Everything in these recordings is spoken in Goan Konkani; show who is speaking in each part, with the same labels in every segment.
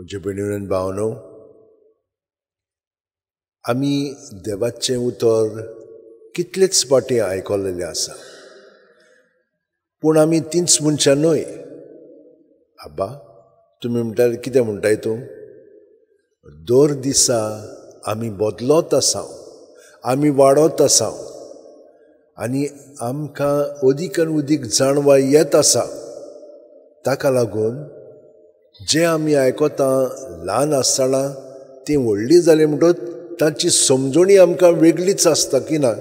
Speaker 1: म्हजे भयणीन भावनो, आमी देवाचें उतर कितलेच फावटी आयकलेलें आसा, पूण आमी तींच मनशां न्हय. आबा, तुमी म्हणटाले कितें म्हणटाय तूं? दर दिसा आमी बदलत आसा, आमी वाडत आसा आनी आमकां अदीक आनी अदीक जाणवाय येत आसा. ताका लागून जें आमी आयकता ल्हान आसतना तीं व्हडलीं जालीं म्हणटकच तांची समजणी आमकां वेगळीच आसता की ना,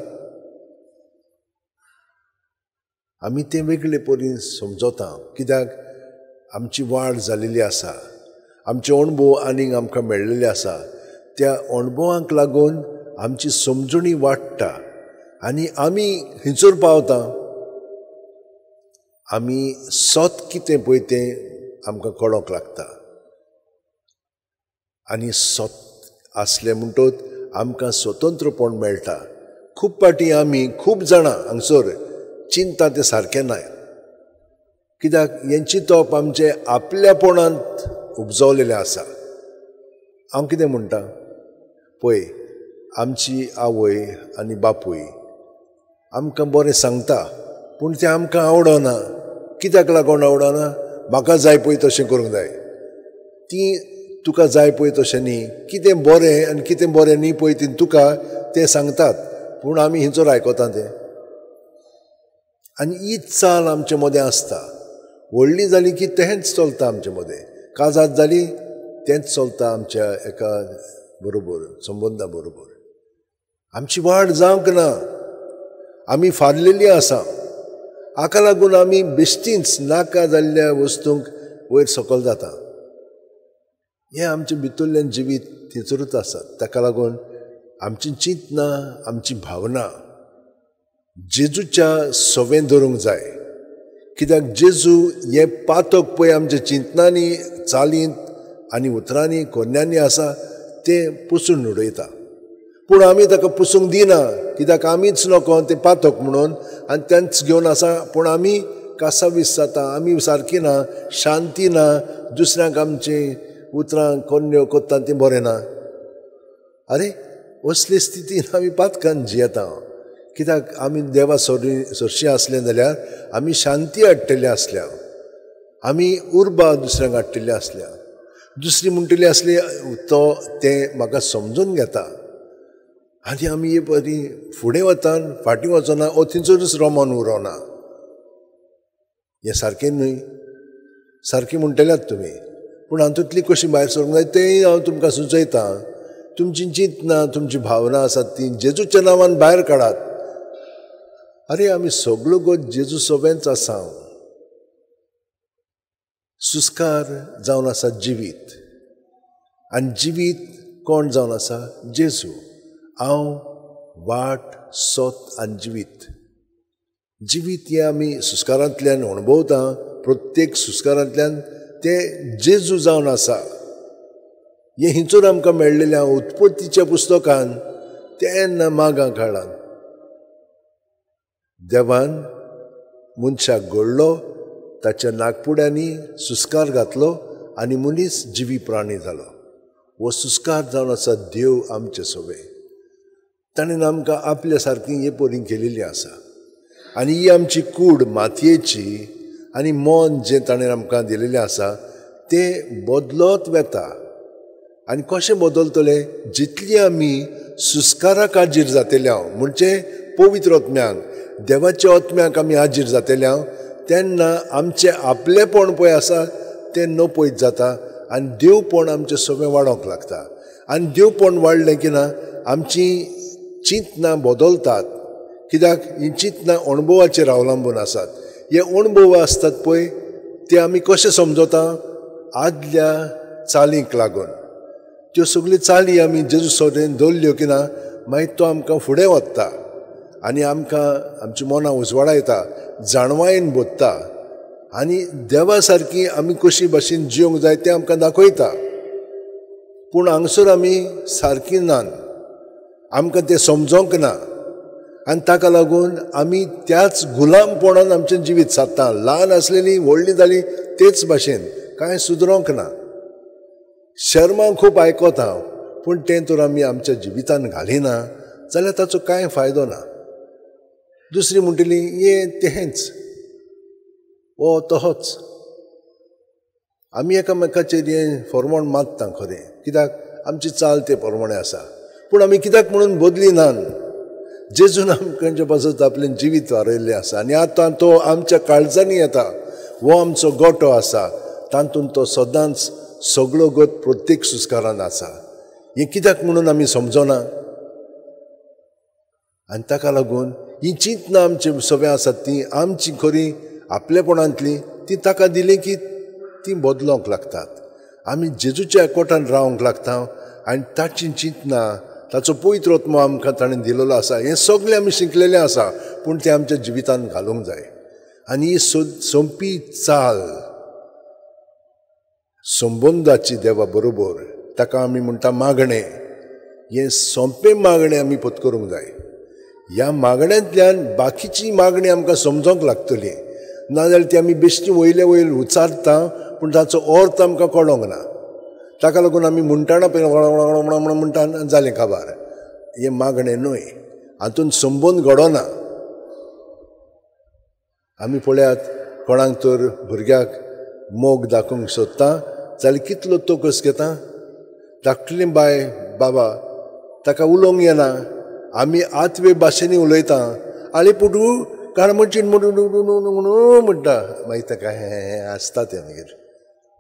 Speaker 1: आमी तें वेगळे परीन समजता. कित्याक आमची वाड जालेली आसा, आमचे अणभव आनीक आमकां मेळ्ळेले आसा. त्या अणभवांक लागून आमची समजणी वाडटा आनी आमी खंयसर पावता, आमी सत कितें पळय तें आमकां कळोंक लागता. आनी सत आसलें म्हणटकच आमकां स्वतंत्रपण मेळटा. खूब फावटी आमी खूब जाणां हांगसर चिंता तें सारकें ना, कित्याक हें चिंतप आमचें आपल्यापणांत उपजवलेलें आसा. हांव कितें म्हणटा पळय, आमची आवय आनी बापूय आमकां बरें सांगता, पूण तें आमकां आवडना. कित्याक लागून आवडना? म्हाका जाय पळय तशें करूंक जाय. तीं तुका जाय पळय तशें न्ही, कितें बरें आनी कितें बरें न्ही पळय तीं तुका तें सांगतात, पूण आमी हिंचोर आयकता तें. आनी ही चाल आमचे मदें आसता. व्हडली जाली की तेंच चलता आमचे मदें, काजाद जाली तेंच चलता आमच्या एका बरोबर संबंदा बरोबर. आमची वाड जावंक ना, आमी फारलेली आसा. हाका लागून आमी बेश्टींच नाका जाल्ल्या वस्तूंक वयर सकयल जाता. हें आमचें भितरल्यान जिवीत थंयसरूच आसा. ताका लागून आमची चिंतना, आमची भावना जेजूच्या सवें धरूंक जाय. कित्याक जेजू हें पातक पळय आमच्या चिंतनांनी, चालींत आनी उतरांनी, कोन्यांनी आसा तें पुसून उडयता. पूण आमी ताका पुसूंक दिना, कित्याक आमीच नको तें पातक म्हणून आनी तेंच घेवन आसा. पूण आमी कासावीस जाता, आमी सारकी ना, शांती ना, दुसऱ्यांक आमचीं उतरां कोन्न्यो कोत्ता तीं बरें ना. आरे, असले स्थितीन आमी पातकान जियेता. कित्याक आमी देवा सरशीं आसलें जाल्यार आमी शांती हाडटले आसल्या, आमी उर्बा दुसऱ्यांक हाडटले आसल्या. दुसरी म्हणटली आसली तो तें म्हाका समजून घेता आनी आमी हे परी फुडें वता, फाटीं वचना, ओ थंयसरूच रोमन उरोना. हें सारकें न्हय, सारकें म्हणटल्यात तुमी, पूण हातूंतली कशी भायर सरूंक जाय तेंय हांव तुमकां सुचयतां. तुमची चिंतना, तुमची भावना आसात ती जेजूच्या नांवान भायर काडात. आरे, आमी सगळो गो जेजू सवेंच आसा. सुस्कार जावन आसा जिवीत, आनी जिवीत कोण जावन आसा? जेजू. हांव वाट, सत आनी जिवीत. जिवीत हें आमी सुस्कारांतल्यान अणभवता, प्रत्येक सुस्कारांतल्यान तें जेजू जावन आसा. हें हिंचूर आमकां मेळ्ळेलें उत्पत्तीच्या पुस्तकान तेन्ना मागां काळान देवान मनशाक घडलो, ताच्या नागपुड्यांनी सुस्कार घातलो आनी मनीस जिवी प्राणी जालो. हो सुस्कार जावन आसा देव आमचे सवे. ताणें आमकां आपल्या सारकी हे परीन केलेली आसा. आनी ही आमची कूड मातयेची आनी मन जें ताणें आमकां दिलेलें आसा तें बदलत वेता. आनी कशें बदलतलें? जितली आमी सुस्काराक हाजीर जातले हांव, म्हणजे पवित्र आत्म्यांक, देवाच्या आत्म्याक आमी हाजीर जातले हांव, तेन्ना आमचें आपलेपण पळय आसा तें नपयत जाता आनी देवपण आमचें सगळें वाडोवंक लागता. आनी देवपण वाडलें की ना आमची चिंतनां बदलतात. कित्याक हीं चिंतनां अणभवाचेर अवलंबून आसात. हे अणभव आसतात पळय ते आमी कशें समजता? आदल्या चालींक लागून. त्यो सगल्यो चाली आमी जेजू सरेन दवरल्यो की ना मागीर तो आमकां फुडें वता आनी आमकां आमची मनां उजवाडायता, जाणवायेन भरता आनी देवा सारकी आमी कशी भाशेन जिवंक जाय तें आमकां दाखयता. पूण हांगसर आमी सारकी नात, आमकां तें समजोंक ना आनी ताका लागून आमी त्याच गुलामपणान आमचें जिवीत सादता. ल्हान आसलेलीं व्हडलीं जालीं तेच भाशेन, कांय सुदरोंक ना. शर्मा खूब आयकता हांव, पूण तें तर आमी आमच्या जिवितान घालिना जाल्यार ताचो कांय फायदो ना. दुसरी म्हणटली हें तेंच, ओ तोच. आमी एकामेकाचेर हें फॉर्मोण मारता खरें, कित्याक आमची चाल ते प्रमाणे आसा, पूण आमी कित्याक म्हणून बदली नान. जेजून आमकां पासत आपलें जिवीत वारयल्लें आसा आनी आतां तो आमच्या काळजांनी येता. हो आमचो गोटो आसा, तातूंत तो सदांच सगळो गत प्रत्येक सुस्कारान आसा. हें कित्याक म्हणून आमी समजना आनी ताका लागून ही चिंतनां आमची सगळें आसात ती आमची खरी आपलेपणांतली ती ताका दिली की ती बदलोंक लागतात. आमी जेजूच्या एकवटान रावंक लागता आनी ताची चिंतनां, ताचो पवित्र आत्मो आमकां ताणें दिलेलो आसा. हें सगळें आमी शिकलेलें आसा, पूण तें आमच्या जिवितान घालूंक जाय. आनी ही सोंपी चाल संबंदाची देवा बरोबर, ताका आमी म्हणटा मागणें. हें सोंपें मागणें आमी पत्करूंक जाय. ह्या मागण्यांतल्यान बाकीची मागणी आमकां समजोंक लागतली, नाजाल्यार ती आमी बेश्टी वयले वयर उचारता पूण ताचो अर्थ आमकां कळोंक ना. ताका लागून आमी म्हणटाना पळय म्हणटा जालें काबार. हें मागणें न्हय, हातूंत संबंद घडोना. आमी पळयात कोणाक तर भुरग्याक मोग दाखोवंक सोदता जाल्यार कितलो तोकस घेता. धाकटली बाय बाबा ताका उलोवंक येना, आमी आतवे भाशेंनी उलयता, आले पुटू काणमचीन म्हणून म्हणटा, मागीर ताका हें आसता तें, मागीर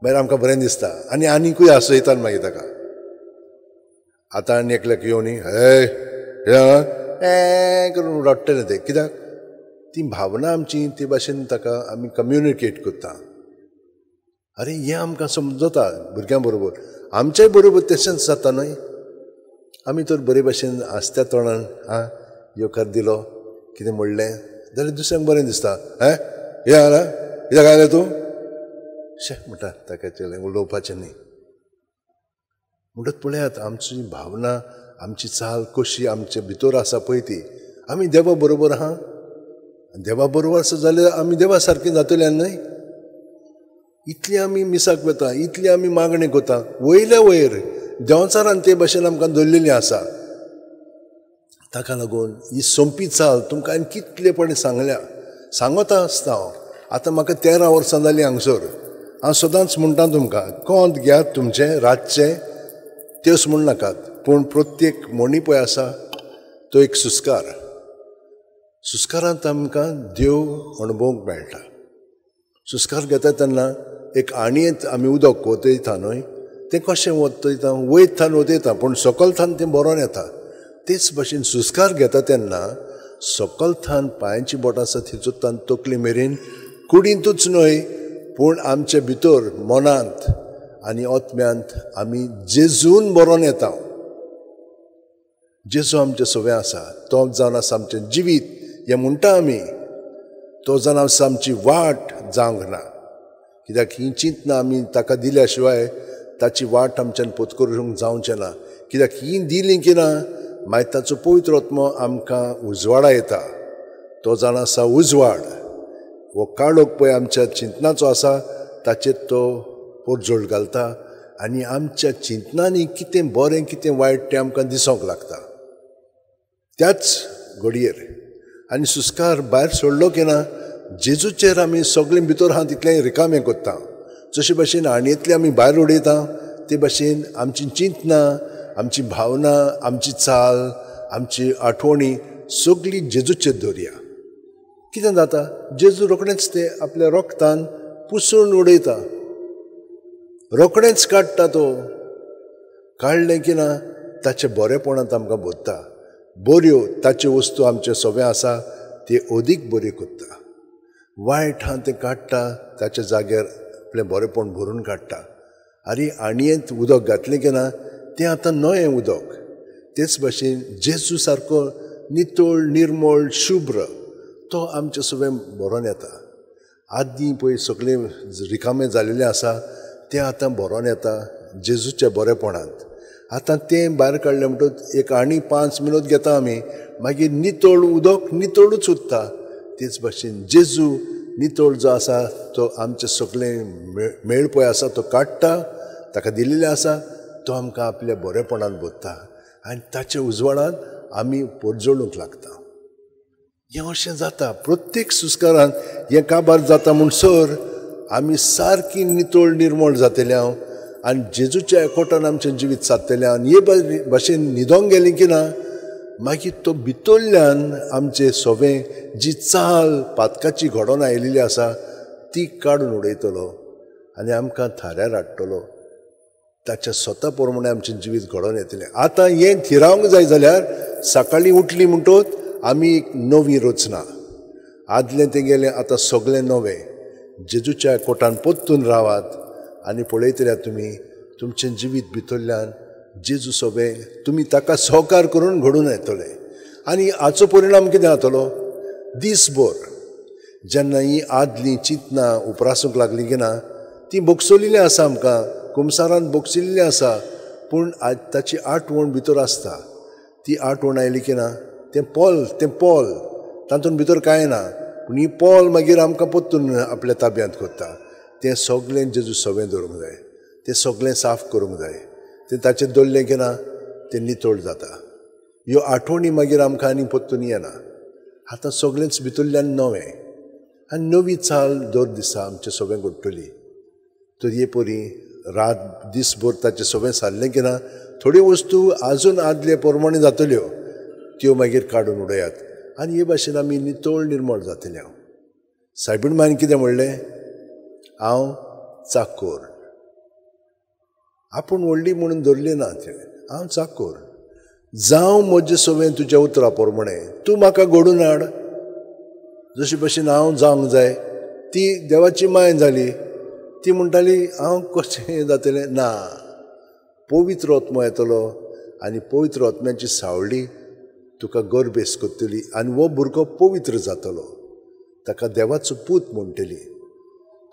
Speaker 1: मागीर आमकां बरें दिसता आनी आनीकूय आसयतात मागीर ताका. आतां आनी एकल्याक येवन हे हें करून रडटलें तें, कित्याक ती भावना आमची ते भाशेन ताका आमी कम्युनिकेट करता. अरे हें आमकां समजता भुरग्यां बरोबर, आमच्याय बरोबर तशेंच जाता न्हय. आमी तर बरे भाशेन आसत्या तोंडान आं येवकार दिलो, कितें म्हणलें जाल्यार दुसऱ्यांक बरें दिसता. हें हें आला कित्याक आयलें तूं शे म्हणटा, ताका तें उलोवपाचें न्ही. म्हणटच पळयात आमची भावना, आमची चाल कशी आमचे भितर आसा पळय ती. आमी देवा बरोबर आहा, देवा बरोबर आसा जाल्यार आमी देवा सारकें जातले न्हय. इतली आमी मिसाक वता, इतली आमी मागणी करता, वयल्या वयर देंवचारान ते भाशेन आमकां दवरलेली आसा. ताका लागून ही सोंपी चाल तुमकां हांवें कितलेपणी सांगल्या, सांगता आसता हांव. आतां म्हाका 13 वर्सां जालीं हांगसर. हांव सदांच म्हणटा तुमकां, कोंत घेयात तुमचें रातचें त्योच म्हण नाकात, पूण प्रत्येक म्हणी पळय आसा तो एक सुस्कार. सुस्कारांत आमकां देव अणभवंक मेळटा. सुस्कार घेता तेन्ना एक आणयेंत आमी उदक वतयता न्हय, तें कशें वतयता, वयर थान वतयता पूण सकल थान तें बरोवन येता. तेच भाशेन सुस्कार घेता तेन्ना सकल थान पांयांची बोटां आसा थंयसून तकली मेरेन कुडींतूच न्हय पूण आमचे भितर मनांत आनी आत्म्यांत आमी जेजून बरोवन येता. जेजू आमचें सगळें आसा, तो जावन आसा आमचें जिवीत हें म्हणटा आमी, तो जावन आसा आमची वाट जावंक ना. कित्याक ही चिंतना आमी ताका दिल्या शिवाय ताची वाट आमच्यान पत्करूंक जावचें ना. कित्याक ही दिली की ना मागीर ताचो पवित्र आत्मो आमकां उजवाडा येता. तो जावन आसा उजवाड. हो काळोख पळय आमच्या चिंतनाचो आसा ताचेर तो पोटजोळ घालता आनी आमच्या चिंतनांनी कितें बरें कितें वायट तें आमकां दिसोंक लागता त्याच घडयेर. आनी सुस्कार भायर सोडलो की ना जेजूचेर आमी सगळें भितर आहा तितलें रिकामें करता. जशे भाशेन आणयेंतलें आमी भायर उडयता ते भाशेन आमची चिंतनां, आमची भावना, आमची चाल, आमची आठवणी सगळी जेजूचेर दवरया. कितें जाता, जेजू रोखडेंच ते आपल्या रोगतान पुसून उडयता, रोखडेंच काडटा. तो काडलें की ना ताचें बरेपणांत आमकां भरता. बऱ्यो ताच्यो वस्तू आमच्यो सगळें आसा त्यो अदीक बऱ्यो करता. वायट आहा तें काडटा, ताच्या जाग्यार आपलें बरेपण भरून काडटा. आनी आणयेंत उदक घातलें की ना तें आतां नवें उदक. तेच भाशेन जेजू सारको नितळ, निर्मळ, शुभ्र तो आमचें सगळें भरोन येता. आदीं पळय सगळें रिकामें जालेलें आसा तें आतां भरोन येता जेजूच्या बरेपणांत. आतां तें भायर काडलें म्हणटकच एक आनी 5 मिनट घेता आमी, मागीर नितळ उदक नितळूच उरता. तेच भाशेन जेजू नितळ जो आसा तो आमचें सगळें मेळ पळय आसा तो काडटा, ताका दिल्लें आसा तो आमकां आपल्या बरेपणान भरता आनी ताच्या उजवाडान आमी पोरजोळूंक लागता. हें अशें जाता प्रत्येक सुस्कारान. हें काबार जाता म्हणसर आमी सारकी नितळ निर्मळ जातले हांव आनी जेजूच्या एकवटान आमचें जिवीत सादतलें. आनी हे भाशेन न्हिदोंक गेलीं की ना मागीर तो भितरल्यान आमचें सोवें जी चाल पातकाची घडोवन आयिल्ली आसा ती काडून उडयतलो आनी आमकां थाऱ्यार हाडटलो. ताच्या स्वता प्रमाणे आमचें जिवीत घडोवन येतलें. आतां हें थिरावंक जाय जाल्यार सकाळीं उठली म्हणटोच आमी एक नवी रचना, आदलें तें गेलें आतां सगळें नवें. जेजूच्या कोटान परतून रावात आनी पळयतल्या तुमी तुमचें जिवीत भितरल्यान जेजू सोबें तुमी ताका सहकार करून घडून येतले. आनी हाचो परिणाम कितें जातलो, दीसभर जेन्ना ही आदलीं चिंतनां उप्रासूंक लागलीं की ना ती बोगसोलिल्लीं आसा, आमकां कुमसारान बोगसिल्लीं आसा, पूण आज ताची आठवण भितर आसता. ती आठवण आयली की ना तें पोल, तें पोल तातूंत भितर कांय ना, पूण ही पोल मागीर आमकां परतून आपल्या ताब्यांत करता. तें सगळें जेजू सवें दवरूंक जाय, तें सगळें साफ करूंक जाय. तें ताचेर दवरलें की ना तें नितळ जाता. ह्यो आठवणी मागीर आमकां आनी परतून येना. आतां सगळेंच भितरल्यान नवें आनी नवी चाल दर दिसा आमचें सगळें घडटली. तर हे परी रात दीसभर ताचें सगळें सारलें की ना थोड्यो वस्तू आजून आदले प्रमाणे जातल्यो त्यो मागीर काडून उडयात आनी हे भाशेन आमी नितळ निर्मळ जातले. हांव सायबीण मायन कितें म्हणलें, हांव चाकोर. आपूण व्हडली म्हणून धरली ना तिणें, हांव चाकोर, जावं म्हजें सगळें तुज्या उतरा प्रमाणे, तूं म्हाका घडून हाड जशे भशेन हांव जावंक जाय. ती देवाची माय जाली. ती म्हणटाली हांव कशें जातलें ना, पवित्र आत्मो येतलो आनी पवित्र आत्म्याची सावळी तुका गर्भेस करतली आनी हो भुरगो पवित्र जातलो, ताका देवाचो पूत म्हणटली.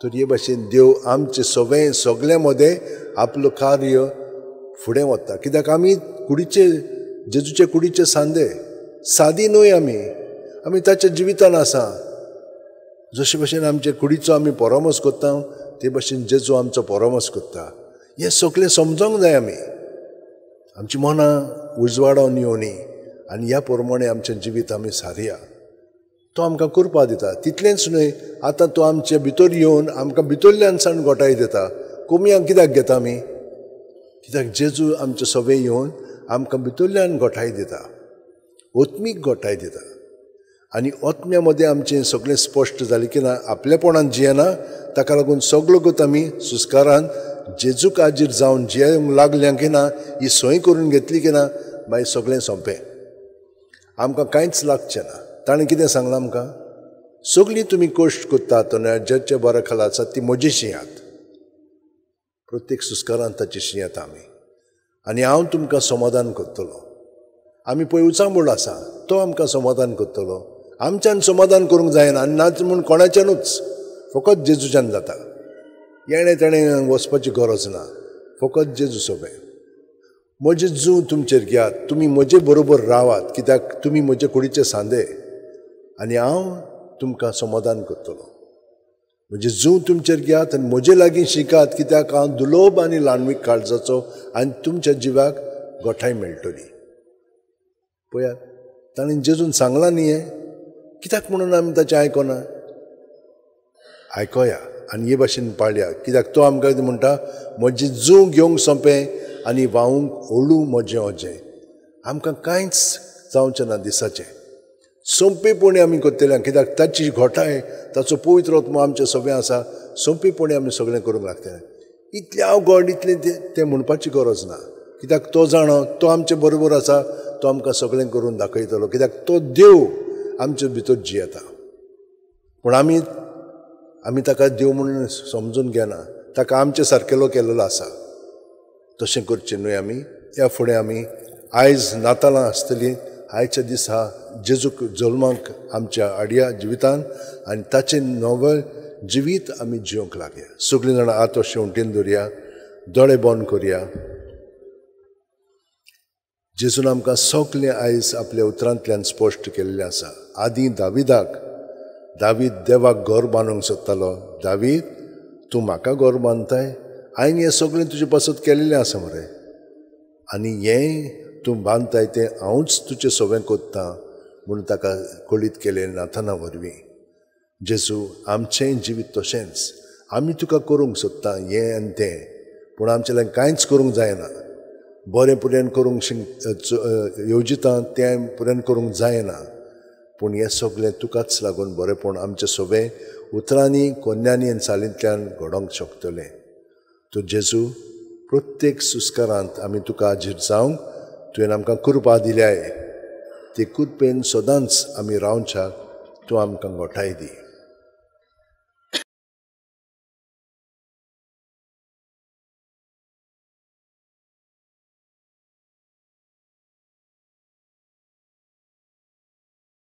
Speaker 1: तर हे भाशेन देव आमचें सगळें सगळ्यां मदें आपलो कार्य फुडें वता. कित्याक आमी कुडीचे जेजूचे कुडीचे सांदे, सादी न्हय आमी, आमी ताच्या जिवितान आसा. जशे भशेन आमचे कुडीचो आमी परामर्श करता ते भशेन जेजू आमचो परामर्श करता. हें सगळें समजोंक जाय आमी. आमची मनां उजवाडावन येवनी आनी ह्या प्रमाणे आमचें जिवीत आमी सारया. तो आमकां करपा दिता. तितलेंच न्हय, आतां तो आमचे भितर येवन आमकां भितरल्यान सावन गोठाय दिता. कोमयांक कित्याक घेता आमी? कित्याक जेजू आमचे सगळे येवन आमकां भितरल्यान गोठाय दिता, आत्मीक गोठाय दिता. आनी आत्म्या मदें आमचें सगळें स्पश्ट जालें की ना आपलेपणान जियेना, ताका लागून सगळो गत आमी सुस्कारान जेजूक आजीर जावन जियेवंक लागल्या की ना, ही सोय करून घेतली की ना मागीर सगळें सोंपें, आमकां कांयच लागचें ना. ताणें कितें सांगलां आमकां, सगळीं तुमी कश्ट करतात ज्याच्या बऱ्या खाला आसात ती म्हजी शिंयात. प्रत्येक सुस्कारान ताची शिंयात आमी आनी हांव तुमकां समाधान करतलो. आमी पळय उचांबळ आसा, तो आमकां समाधान करतलो. आमच्यान समाधान करूंक जायना आनी नाच म्हूण कोणाच्यानूच, फकत जेजूच्यान जाता. येणें तेणें वचपाची गरज ना, फकत जेजू सोबें. म्हजें जूं तुमचेर घेयात, तुमी म्हजे बरोबर रावात, कित्याक तुमी म्हजे कुडीचे सांदे आनी हांव तुमकां समाधान करतलो. म्हजें जूं तुमचेर घेयात आनी म्हजे लागीं शिकात, कित्याक हांव दुलोब आनी ल्हानवीक काळजाचो आनी तुमच्या जिवाक गोठाय मेळटली. पळयात ताणें जेजून सांगलां न्ही हें, कित्याक म्हणून आमी ताचें आयकना? आयकोया आनी हे भाशेन पाळया, कित्याक तो आमकां कितें म्हणटा, म्हजें जूं घेवंक सोंपें आनी व्हांवूंक हळू म्हजें अजें. आमकां कांयच जावचें ना दिसाचें, सोंपेपणी आमी करतले, कित्याक ताची घोटाय, ताचो पवित्र आत्मो आमचें सगळें आसा. सोंपेपणी आमी सगळें करूंक लागतलें. इतलें अवघड इतलें तें म्हणपाची गरज ना, कित्याक तो जाणो, तो आमचे बरोबर आसा, तो आमकां सगळें करून दाखयतलो, कित्याक तो देव आमचे भितर जियेता. पूण आमी आमी ताका देव म्हणून समजून घेना, ताका आमचे सारकेलो केल्लो आसा. तशें करचें न्हय आमी. ह्या फुडें आमी आयज नातालां आसतलीं, आयच्या दिसा जेजूक जल्माक आमच्या आडया जिवितान आनी ताचें नवें जिवीत आमी जिवंक लागया. सगळीं जाणां आतो शेंवटीन दवरया, दोळे बंद करया. जेजून आमकां सगळें आयज आपल्या उतरांतल्यान स्पश्ट केल्लें आसा. आदीं दाविदाक, दावीद देवाक घर बांदूंक सोदतालो. दावीद तूं म्हाका घर बांदताय, हांवें हें सगळें तुजे पासत केल्लें आसा मरे. आनी हें तूं बांदताय तें हांवूच तुजें सवें कोत्तां म्हणून ताका कळीत केलें नाथाना वरवीं. जेजू, आमचेंय जिवीत तशेंच, आमी तुका करूंक सोदता हें आनी तें, पूण आमचेल्यान कांयच करूंक जायना. बरें पुऱ्यान करूंक येवजिता तें पुऱ्यान करूंक जायना, पूण हें सगळें तुकाच लागून बरेंपण आमचें सगळें उतरांनी, कोन्यांनी आनी चालींतल्यान घडोवंक शकतलें. तर जेजू, प्रत्येक सुस्कारांत आमी तुका हाजीर जावंक तुवें आमकां कृपा दिल्याय. ते कृपेन सदांच आमी रावच्याक तूं आमकां गोठाय दी.